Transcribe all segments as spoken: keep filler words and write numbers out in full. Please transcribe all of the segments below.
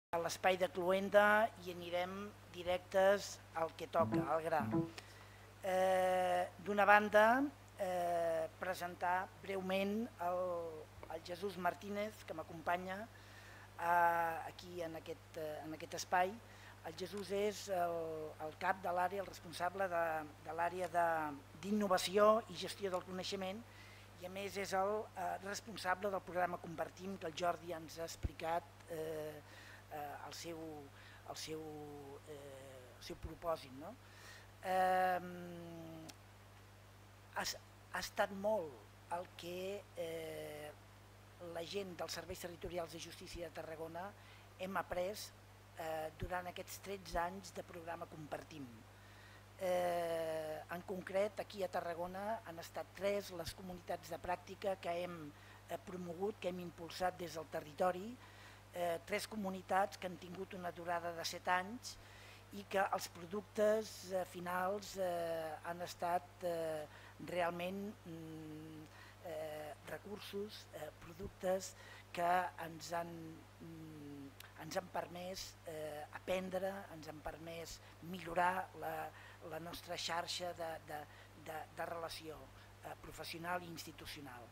a l'espai de Cluenda i anirem directes al que toca, al gra. Eh, D'una banda, eh, presentar breument el, el Jesús Martínez, que m'acompanya eh, aquí en aquest, eh, en aquest espai. El Jesús és el, el cap de l'àrea, el responsable de, de l'àrea d'innovació i gestió del coneixement, i a més és el eh, responsable del programa Compartim, que el Jordi ens ha explicat eh, eh, el seu, el seu, eh, el seu propòsit. No? Eh, ha, ha estat molt el que eh, la gent dels serveis territorials de justícia de Tarragona hem après eh, durant aquests tretze anys de programa Compartim. Eh, en concret, aquí a Tarragona han estat tres les comunitats de pràctica que hem eh, promogut, que hem impulsat des del territori, eh, tres comunitats que han tingut una durada de set anys i que els productes eh, finals eh, han estat eh, realment mm, eh, recursos, eh, productes que ens han, mm, ens han permès eh, aprendre, ens han permès millorar la, la nostra xarxa de, de, de, de relació eh, professional i institucional.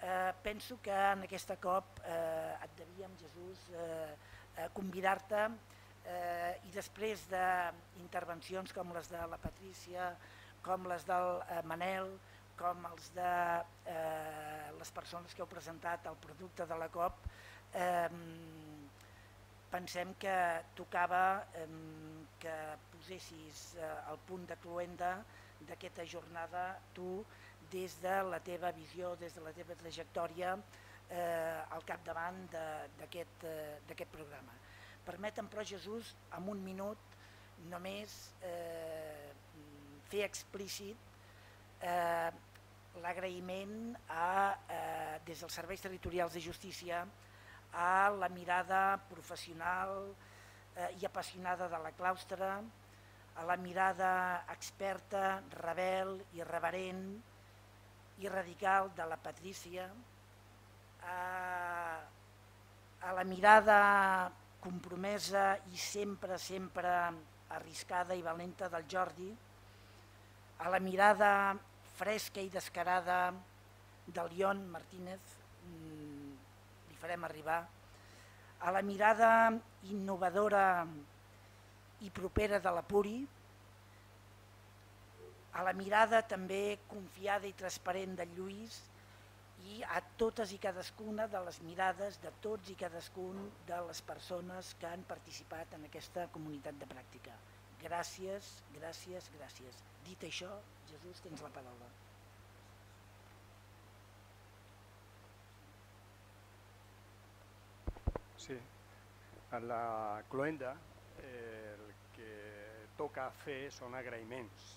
Eh, penso que en aquesta cop eh, et devíem, Jesús, eh, eh, convidar-te eh, i després d'intervencions com les de la Patrícia, com les del eh, Manel, com els de eh, les persones que heu presentat el producte de la COP, eh, pensem que tocava eh, que posessis eh, el punt de cluenda d'aquesta jornada tu des de la teva visió, des de la teva trajectòria eh, al capdavant d'aquest eh, programa. Permetem, però, Jesús, en un minut només eh, fer explícit eh, l'agraïment eh, des dels serveis territorials de justícia a la mirada professional eh, i apassionada de la claustra, a la mirada experta, rebel, irreverent i radical de la Patrícia, a, a la mirada compromesa i sempre, sempre arriscada i valenta del Jordi, a la mirada fresca i descarada del Lion Martínez, li farem arribar, a la mirada innovadora i propera de la Puri, a la mirada també confiada i transparent del Lluís i a totes i cadascuna de les mirades de tots i cadascun de les persones que han participat en aquesta comunitat de pràctica. Gràcies, gràcies, gràcies. Dit això, Jesús, tens la paraula. Sí, a la cluenda el que toca fer són agraïments,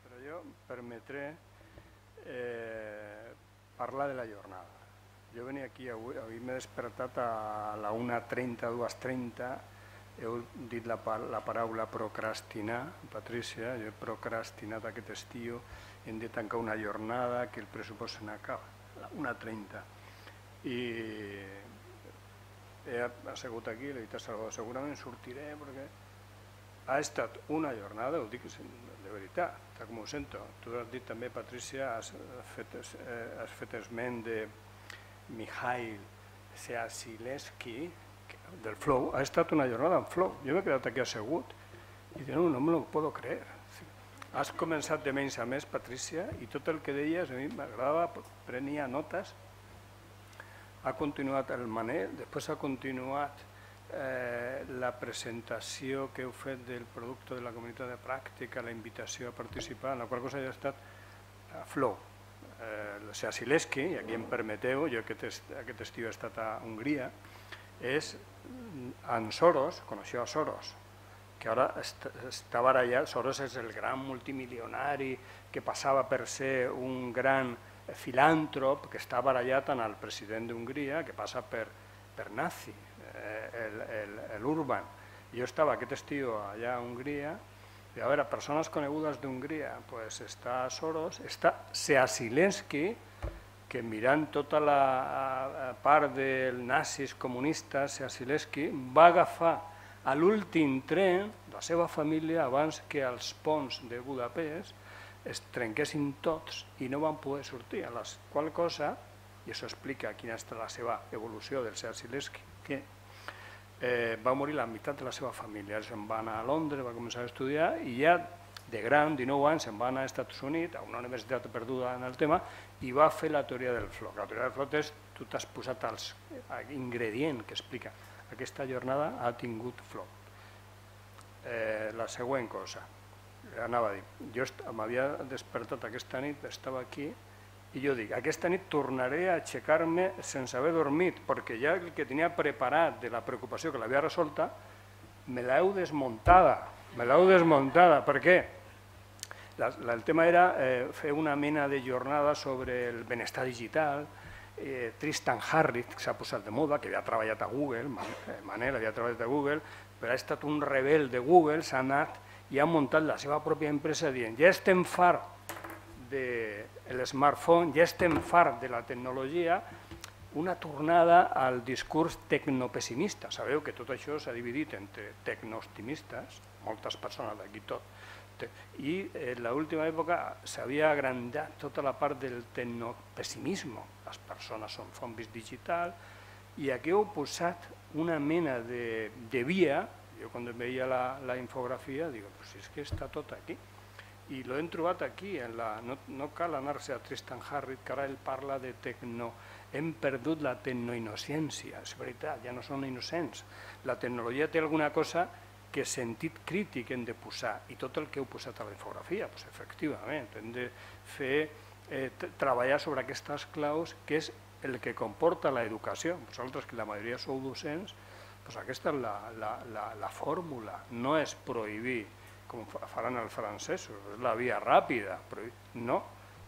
però jo em permetré eh, parlar de la jornada. Jo venia aquí avui, avui m'he despertat a la una trenta, dues trenta, heu dit la, la paraula procrastinar, Patrícia, jo he procrastinat aquest estiu, hem de tancar una jornada que el pressupost se n'acaba, a la una trenta. I he assegut aquí, li he dit a Salvador, segurament sortiré perquè ha estat una jornada, ho dic de veritat, tal com ho sento. Tu has dit també, Patrícia, has fet, has fet esment de Mikhail Seasilevsky, del Flow. Ha estat una jornada en Flow. Jo m'he quedat aquí assegut i dic, no, no me lo puedo creer. Has començat de menys a més, Patrícia, i tot el que deies a mi m'agradava, prenia notes. Ha continuat el Manel, després ha continuat eh, la presentació que heu fet del producte de la comunitat de pràctica, la invitació a participar, en la qual cosa ja ha estat a Flow. Eh, o sigui, Sileski, i aquí em permeteu, jo aquest, est aquest estiu he estat a Hongria, és en Soros, coneixeu a Soros, que ara est està barallat. Soros és el gran multimilionari que passava per ser un gran filàntrop que està barallat amb el president d'Hongria, que passa per, per nazi, eh, l'Urban. Jo estava aquest estiu allà a Hongria, i a veure, persones conegudes d'Hongria, pues està Soros, està Seasilevsky, que mirant tota la part dels nazis comunistes, Sileski va agafar a l'últim tren la seva família abans que els ponts de Budapest es trenquessin tots i no van poder sortir, a la qual cosa, i això explica quina és la seva evolució del Sileski, que eh, va morir la meitat de la seva família, se'n va anar a Londres, va començar a estudiar i ja de gran, dinou anys, se'n va anar als Estats Units, a una universitat perduda en el tema, i va fer la teoria del floc. La teoria del floc és, tu t'has posat els ingredients que explica. Aquesta jornada ha tingut floc. Eh, la següent cosa, anava a dir, jo m'havia despertat aquesta nit, estava aquí, i jo dic, aquesta nit tornaré a aixecar-me sense haver dormit, perquè ja el que tenia preparat de la preocupació que l'havia resolta, me l'heu desmuntada, me l'heu desmuntada. Per què? La, la, el tema era eh, fer una mena de jornada sobre el benestar digital. eh, Tristan Harris, que s'ha posat de moda, que havia treballat a Google, Manel havia treballat a Google, però ha estat un rebel de Google, s'ha anat i ha muntat la seva pròpia empresa dient ja estem fart del smartphone, ja estem fart de la tecnologia, una tornada al discurs tecnopessimista. Sabeu que tot això s'ha dividit entre tecnooptimistes, moltes persones d'aquí tot, i en l'última època s'havia agrandat tota la part del tecnopessimisme. Les persones són zombis digitals i aquí heu posat una mena de, de via. Jo quan veia la, la infografia dic, pues si és que està tot aquí. I l'ho hem trobat aquí, en la, no, no cal anar-se a Tristan Harris, que ara ell parla de tecno, hem perdut la tecnoinnocència, és veritat, ja no són innocents. La tecnologia té alguna cosa que sentit crític hem de posar, i tot el que heu posat a la infografia, doncs efectivament, hem de fer, eh, treballar sobre aquestes claus, que és el que comporta l'educació. Vosaltres, que la majoria sou docents, doncs aquesta és la, la, la, la fórmula, no és prohibir, com faran els francesos, és la via ràpida, no,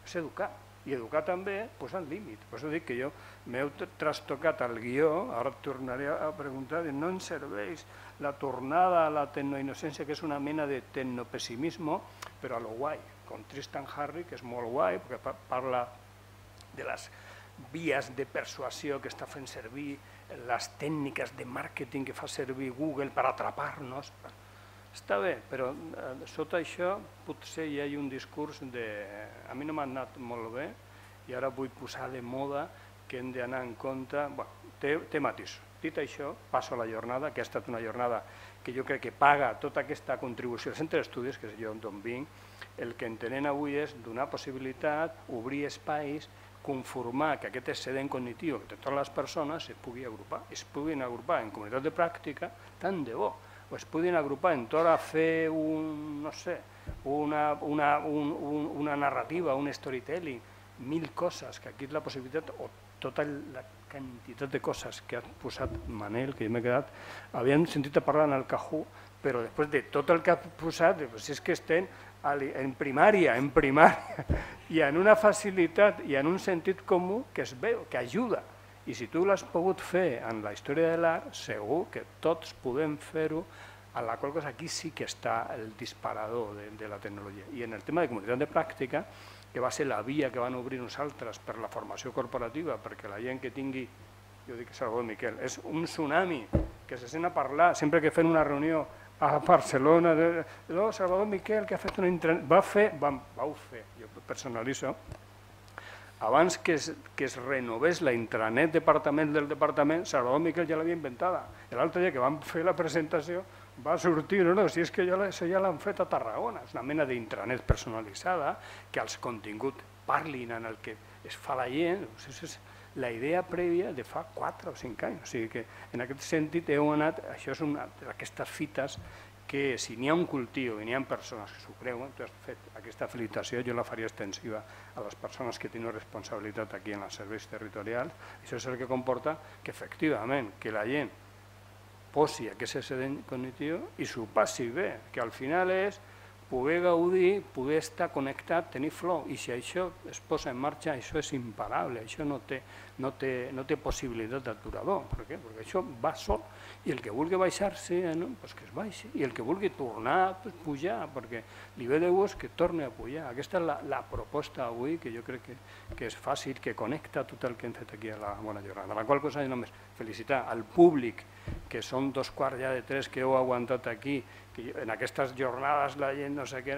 és educar. I educar també posant límit. Per això dic que jo m'heu trastocat el guió, ara tornaré a preguntar, no ens serveix la tornada a la tecnoinocència, que és una mena de tecnopessimisme, però a lo guai, com Tristan Harris, que és molt guai, perquè parla de les vies de persuasió que està fent servir, les tècniques de màrqueting que fa servir Google per atrapar-nos. Està bé, però sota això potser hi ha un discurs de... A mi no m'ha anat molt bé i ara vull posar de moda que hem d'anar en compte... Té, té matisos. Dit això, passo a la jornada, que ha estat una jornada que jo crec que paga tota aquesta contribució al centre d'estudis, que és jo d'on vinc. El que entenem avui és donar possibilitat, obrir espais, conformar que aquest excedent cognitiu de totes les persones es pugui agrupar. Es puguin agrupar en comunitat de pràctica, tant de bo. O es puguin agrupar en tot a fer un, no sé, una, una, un, un, una narrativa, un storytelling, mil coses, que aquí és la possibilitat, o tota la quantitat de coses que ha posat Manel, que jo m'he quedat, havien sentit a parlar en el Cajú, però després de tot el que ha posat, si és que estem en primària, en primària, i en una facilitat i en un sentit comú que es veu, que ajuda. I si tu l'has pogut fer en la història de l'art, segur que tots podem fer-ho, a la qual cosa aquí sí que està el disparador de, de la tecnologia. I en el tema de comunitat de pràctica, que va ser la via que van obrir nosaltres per la formació corporativa, perquè la gent que tingui, jo dic Salvador Miquel, és un tsunami que se sent a parlar, sempre que fem una reunió a Barcelona, de, no, Salvador Miquel, que ha fet una intranet, va fer, vam, vau fer, jo personalitzo, abans que es, que es renovés la intranet departament del departament, Salvador Miquel ja l'havia inventada. L'altre dia que vam fer la presentació va sortir, no, no, si és que ja l'han fet a Tarragona, és una mena d'intranet personalitzada, que els continguts parlin en el que es fa la gent, és la idea prèvia de fa quatre o cinc anys. O sigui que en aquest sentit heu anat, això és una d'aquestes fites que si n'hi ha un cultiu i n'hi ha persones que s'ho creuen, tu has fet aquesta felicitació, jo la faria extensiva a les persones que tenen responsabilitat aquí en els serveis territorials. Això és el que comporta que efectivament que la gent posi aquest excedent cognitiu i s'ho passi bé, que al final és poder gaudir, poder estar connectat, tenir flow, i si això es posa en marxa, això és imparable, això no té, no té, no té possibilitat d'aturador. Per què? Perquè això va sol, i el que vulgui baixar-se, no? Pues que es baixi, i el que vulgui tornar, pues pujar, perquè li ve de gust que torni a pujar. Aquesta és la, la proposta avui, que jo crec que, que és fàcil, que connecta tot el que hem fet aquí a la Bona Jornada. La qual cosa, només felicitar al públic, que són dos quarts ja de tres que heu aguantat aquí, que en aquestes jornades la gent no sé què,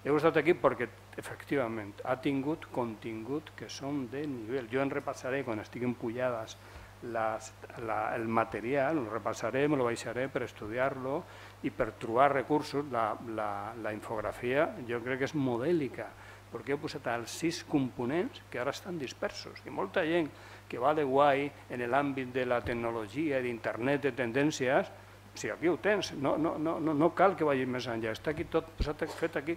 heu estat aquí perquè efectivament ha tingut contingut que són de nivell. Jo en repassaré quan estiguin pujades les, la, el material, el repassaré, me lo baixaré per estudiar-lo i per trobar recursos. La, la, la infografia jo crec que és modèlica, perquè he posat els sis components que ara estan dispersos i molta gent que va de guai en l'àmbit de la tecnologia, d'internet, de tendències. Si aquí ho tens, no, no, no, no cal que vagi més enllà, està aquí tot posat, fet aquí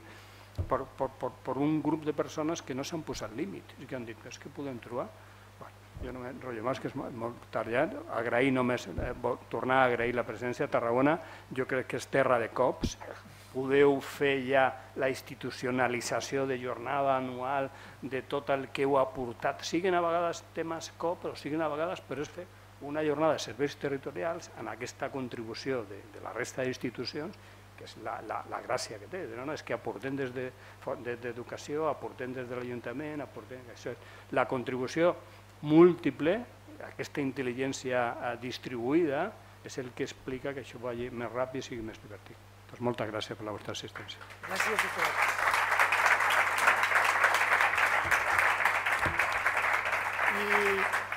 per, per, per, per un grup de persones que no s'han posat límit i que han dit, és que podem trobar. Bueno, jo no m'enrotllo més, que és molt, molt tard ja, agrair només, eh, tornar a agrair la presència a Tarragona, jo crec que és terra de cops, podeu fer ja la institucionalització de jornada anual de tot el que heu aportat, siguin a vegades temes cop, però siguin a vegades, però és fer una jornada de serveis territorials en aquesta contribució de, de la resta d'institucions, que és la, la, la gràcia que té, no? És que aportem des d'educació, de, aportem des de l'Ajuntament, aportem... Això és la contribució múltiple, aquesta intel·ligència distribuïda, és el que explica que això vagi més ràpid i sigui més divertit. Doncs moltes gràcies per la vostra assistència. Gràcies a tots. I